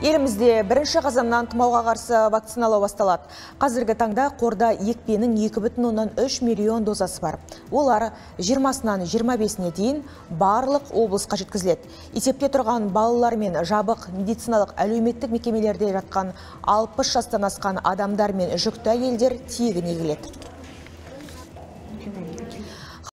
Елімізде 1 қазаннан тұмауға қарсы вакциналау басталады. Қазіргі таңда қорда екпенің 2,3 миллион дозасы бар. Олар 20-нан 25-не дейін барлық облысқа жеткізіледі. Есепте тұрған балалар мен жабық медициналық әлеуметтік мекемелерде жатқан 60 жастан асқан адамдар мен жүкті әйелдер тегін егіледі.